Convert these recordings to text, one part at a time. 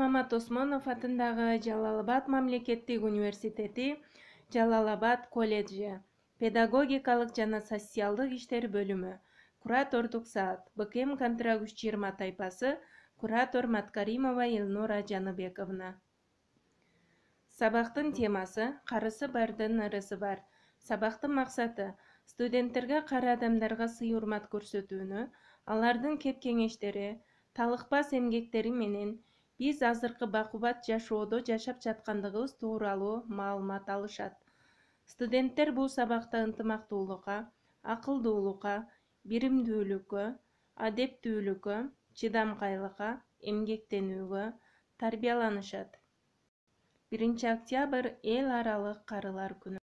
Мамат Осмонов атындагы Жалал-Абад мамлекеттик университети, Жалал-Абад колледжи, педагогикалык жана социалдык иштер бөлүмү, куратордук саат, БКМ контракт 320 тайпасы, куратор Маткаримова Элнура Жаныбековна. Сабактын темасы «Карысы бардын ырысы бар». Сабактын максаты студенттерге кара адамдарга сый-урмат көрсөтүүнү, алардын кеп-кеңештери, талыкпас эмгектери менен биз азыркы бакубат жашоодо жашап жаткандыгыбыз тууралуу маалымат алышат. Студенттер бул сабакта ынтымактуулукка, акылдуулукка, биримдүүлүккө, адептүүлүккө, чыдамкайлыкка, эмгектенүүгө тарбияланышат. 1 октябрь эл аралык карылар күнү.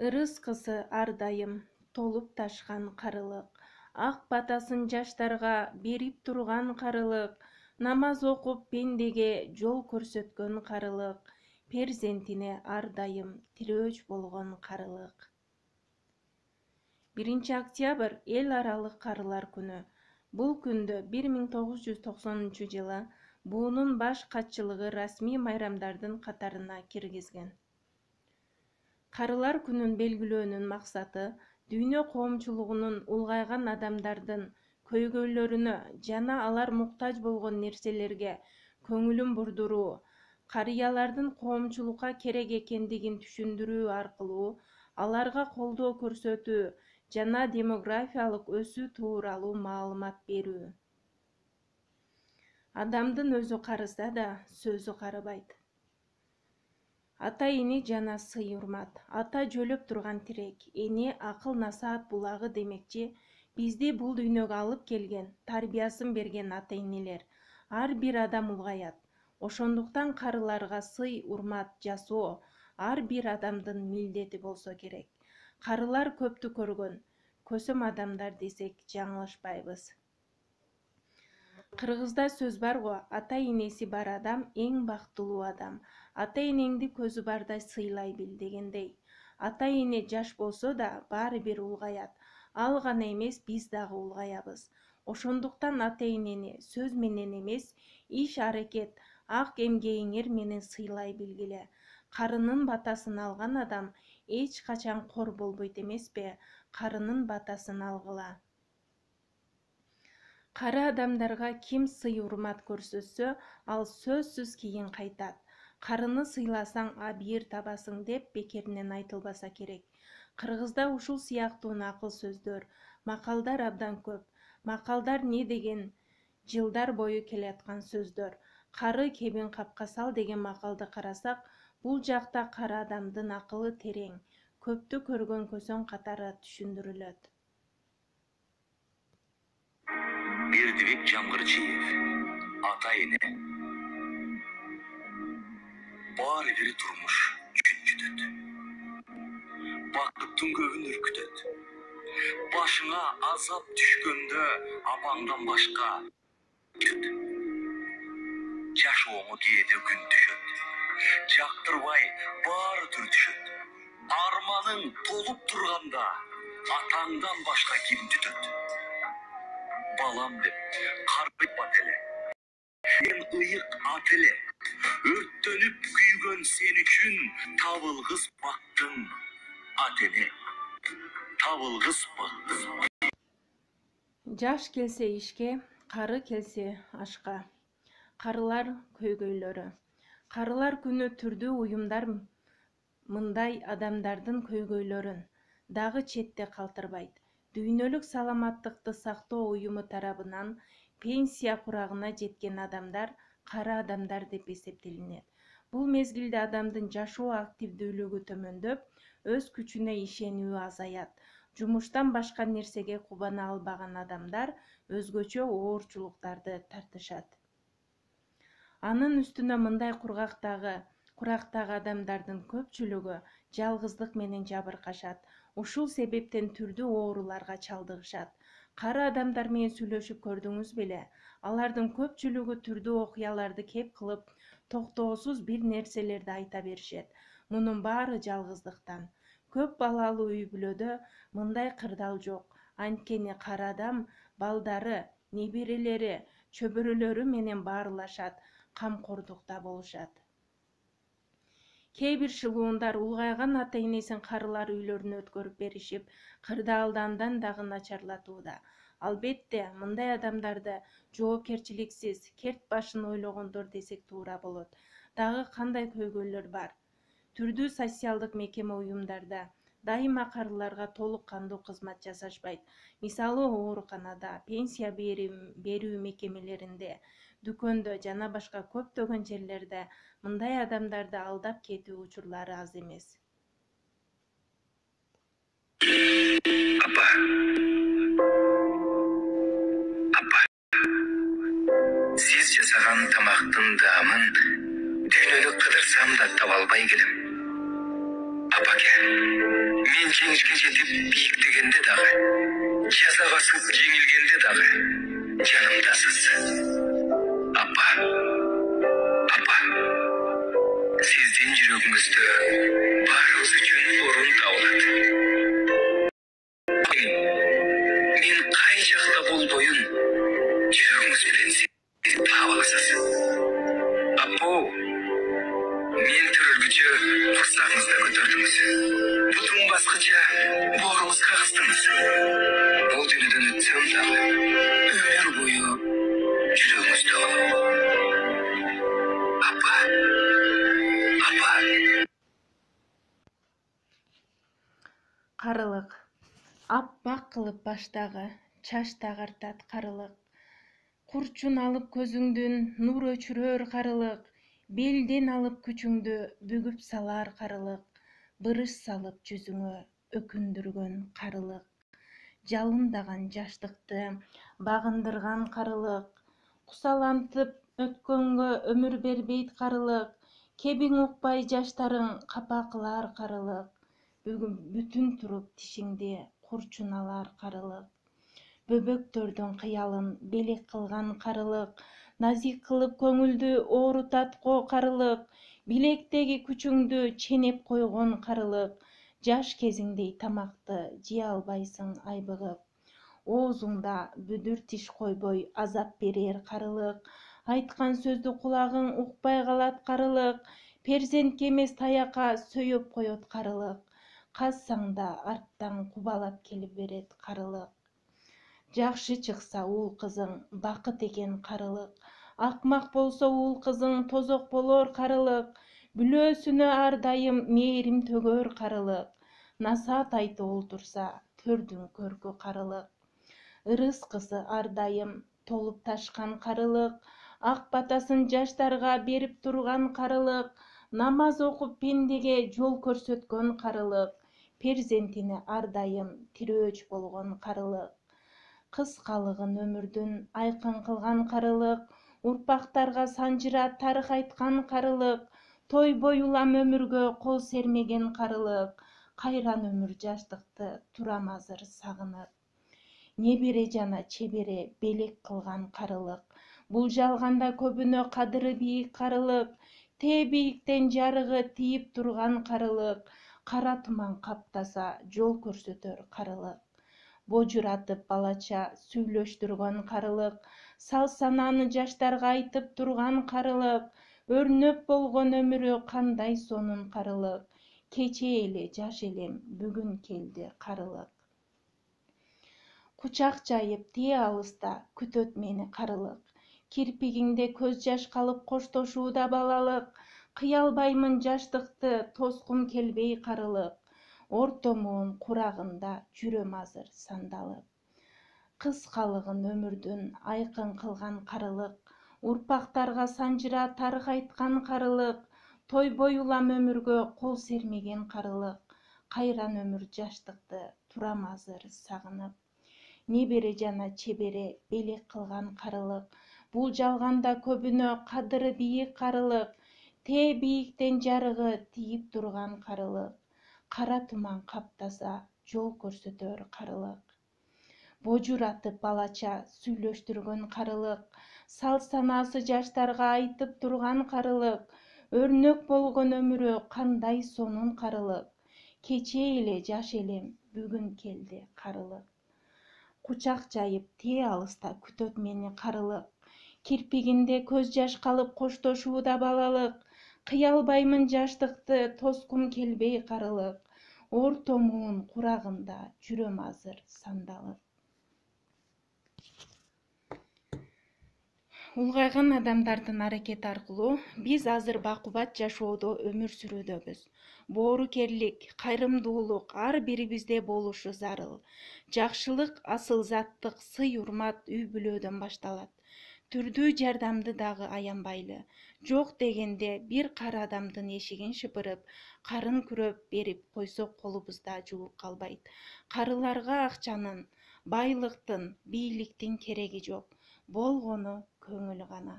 Ырыс кысы ар дайым толуп ташкан карылык, ак батасын жаштарга берип турган карылык, намаз окуп пендеге жол көрсөткөн карылык, перзентине ар дайым тирөөч болгон карылык. 1 октябрь эл аралык карылар күнү. Бул күндө 1990 буунун баш катчылыгы расмий майрамдардын катарына киргизген. Карылар күнүн белгилөөнүн максаты дүйнө коомчулугунун улгайган адамдардын көйгөйлөрүнө жана алар муктаж болгон нерселерге көңүлүн бурдуруу, карыялардын коомчулукка керек экендигин түшүндүрүү аркылуу аларга колдоо көрсөтүү жана демографиялык өсүү тууралуу маалымат берүү. Адамдын өзү карыса да сөзү карыбайт. Ата-эне жана сый-урмат, ата жөлөп турган тирек, эне акыл-насаат булагы демекчи, бизди бул дүйнөгө алып келген, тарбиясын берген ата-энелер. Ар бир адам улгаят. Ошондуктан карыларга сый-урмат жасоо ар бир адамдын милдети болсо керек. Карылар көптү көргөн, көсөм адамдар десек жаңылышпайбыз. Кыргызда сөз бар го, ата-энеси бар адам эң бактылуу адам. Ата-энеңди көзү бардай сыйлай бил дегендей. Ата-эне жаш болсо да баары бир улгаят. Ал гана эмес, биз дагы улгаябыз. Ошондуктан ата-энени сөз менен эмес, иш-аракет, ак эмгегиңер менен сыйлай билгиле. Карынын батасын алган адам эч качан кор болбойт эмеспи? Карынын батасын алгыла. Кара адамдарга ким сый-урмат көрсөтсө, ал сөзсүз кийин кайтат. Карыны сыйласаң абийир табасың деп бекеринен айтылбаса керек. Кыргызда ушул сыяктуу накыл сөздөр, макалдар абдан көп. Макалдар не деген жылдар бою келаткан сөздөр. Кары кебин капка сал деген макалды карасак, бул жакта кара адамдын акылы терең, көптү көргөн көсөң катары түшүндүрүлөт. Бердибек Жамгырчиев, ата-эне. Баары бир турмуш жүтөт. Бакыттын көбүн үркүтөт. Башыңа азап түшкөндө апаңдан башка жашооңо кээде күн түшөт. Жактырбай баары түртүшөт. Арманың толуп турганда атаңдан башка ким түтөт? Балам деп карыпат эле. Сен ыйык ат эле. Өрттөнүп күйгөн сен үчүн табылгыс бактың ата-эне. Табылгыс бактың. Жаш келсе ишке, кары келсе ашка. Карылар көйгөйлөрү. Карылар күнү түрдүү уюмдар мындай адамдардын көйгөйлөрүн дагы четте калтырбайт. Дүйнөлүк саламаттыкты сактоо уюму тарабынан пенсия курагына жеткен адамдар кара адамдар деп эсептелинет. Бул мезгилде адамдын жашоо активдүүлүгү төмөндөп, өз күчүнө ишенүү азаят. Жумуштан башка нерсеге кубана албаган адамдар өзгөчө оорчулуктарды тартышат. Анын үстүнө мындай курактагы адамдардын көпчүлүгү жалгыздык менен жабыркашат. Ушул себептен түрдүү ооруларга чалдыгышат. Кара адамдар менен сүйлөшүп көрдүңүз беле? Алардын көпчүлүгү түрдүү окуяларды кеп кылып, токтоосуз бир нерселерди айта беришет. Мунун баары жалгыздыктан. Көп балалуу үй-бүлөдө мындай кырдаал жок. Анткени кара адам балдары, неберелери чөбөрөлөрү менен баарылашат, камкордукта болушат. Кээ бир шылуундар улгайган ата-энесин карылар үйлөрүнө өткөрүп беришип, кырдаалды андан дагы начарлатууда. Албетте, мындай адамдарды жоопкерчиликсиз, керт башын ойлогондор десек туура болот. Дагы кандай көйгөйлөр бар? Түрдүү социалдык мекеме уюмдарда дайыма карыларга толук кандуу кызмат жасашпайт. Мисалы, ооруканада, пенсия берүү мекемелеринде, дүкөндө жана башка көптөгөн жерлерде мындай адамдарды алдап кетүү учурлары аз эмес. Апа, сиз жасаган тамактын даамын дүйнөнү кыдырсам да таба албай келем. Апаке, мен жеңишке жетип бийиктегенде дагы, жаза басып жеңилгенде дагы жанымдасыз. Апа, сиздин жүрөгүңүздө баарыбыз үчүн орун табылат. Мен кай жакта болбоюн, жүрөгүңүз менен сиз таап аласыз. Апо, мен төрөлгүчө курсагыңызда көтөрдүңүз. Бутум баскыча боорубузга кыстыңыз. Бул дүйнөдөн өтсөм дагы өмүр бою жүрөгүңүздө болом. Апа. Карылык. Аппак кылып баштагы, чачты агартат карылык. Курчун алып көзүңдүн, нур өчүрөр карылык. Белден алып күчүңдү, бүгүп салар карылык. Бырыш салып жүзүңө, өкүндүргөн карылык. Жалындаган жаштыкты багындырган карылык. Кусалантып өткөнгө өмүр бербейт карылык. Кебиң укпай жаштарың капа кылар карылык. Бүгүн бүтүн туруп тишиңди курчун алар карылык. Бөбөктөрдүн кыялын белек кылган карылык. Назик кылып көңүлдү оорутат карылык. Билектеги күчүңдү ченеп койгон карылык. Жаш кезиңдей тамакты жей албайсың айбыгып. Оозуңда бүдүр тиш койбой азап берер карылык. Айткан сөздү кулагың укпай калат карылык. Перзентке эмес таякка сүйөп коет карылык. Казсаң да арттан кубалап келип берет карылык. Жакшы чыкса уул кызың бакыт экен карылык. Акмак болсо уул кызың тозок болор карылык. Бүлөөсүнө ар дайым мээрим төгөр карылык. Насаат айтып олтурса төрдүн көркү карылык. Ырыскысы ар дайым толуп ташкан карылык. Ак батасын жаштарга берип турган карылык. Намаз окуп пендеге жол көрсөткөн карылык. Перзентине ар дайым тирөөч болгон карылык. Кыскалыгын өмүрдүн айкын кылган карылык. Урпактарга санжыра тарых айткан карылык. Тойбой улам өмүргө кол сермеген карылык. Кайран өмүр жаштыкты турам азыр сагынып. Небере жана чебере белек кылган карылык. Бул жалганда көбүнө кадыры бийик карылык. Тээ бийиктен жарыгы тийип турган карылык. Кара туман каптаса жол көрсөтөр карылык. Божуратып балача сүйлөштүргөн карылык. Сал санааны жаштарга айтып турган карылык. Өрнөк болгон өмүрү кандай сонун карылык. Кечээ эле жаш элем, бүгүн келди карылык. Кучак жайып тээ алыста күтөт мени карылык. Кирпигиңде көз жаш калып коштошууда балалык. Кыя албаймын жаштыкты, тоскум келбей карылык. Орто муун курагында жүрөм азыр сандалып. Кыскалыгын өмүрдүн айкын кылган карылык. Урпактарга санжыра тарых айткан карылык. Тойбой улам өмүргө кол сермеген карылык. Кайран өмүр жаштыкты турам азыр сагынып. Небере жана чебере белек кылган карылык. Бул жалганда көбүнө кадыры бийик карылык. Тээ бийиктен жарыгы тийип турган карылык. Кара туман каптаса жол көрсөтөр карылык. Божуратып балача сүйлөштүргөн карылык. Сал санаасы жаштарга айтып турган карылык. Өрнөк болгон өмүрү кандай сонун карылык. Кечээ эле жаш элем, бүгүн келди карылык. Кучак жайып тээ алыста күтөт мени карылык. Кирпигинде көз жаш калып коштошуу да балалык. Кыялбаймын жаштыкты, тоскум келбей карылык. Ортомун курагында жүрөм азыр сандалып. Улгайган адамдардын аракети аркылуу биз азыр бакубат жашоодо өмүр сүрүүдөбүз. Боорукерлик, кайрымдуулук ар бирибизде болушу зарыл. Жакшылык, асыл-заттык, сый-урмат үй бүлөдөн башталат. Түрдүү жардамды дагы аянбайлы. Жок дегенде бир кара адамдын эшигин шыпырып, карын күрөп берип койсок колубузда жууп калбайт. Карыларга акчанын, байлыктын, бийликтин кереги жок. Болгону көңүл гана.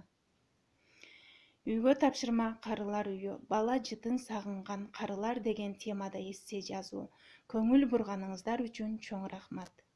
Үйгө тапшырма карылар үйү. Бала жытын сагынган карылар деген темада эссе жазуу. Көңүл бурганыңыздар үчүн чоң рахмат.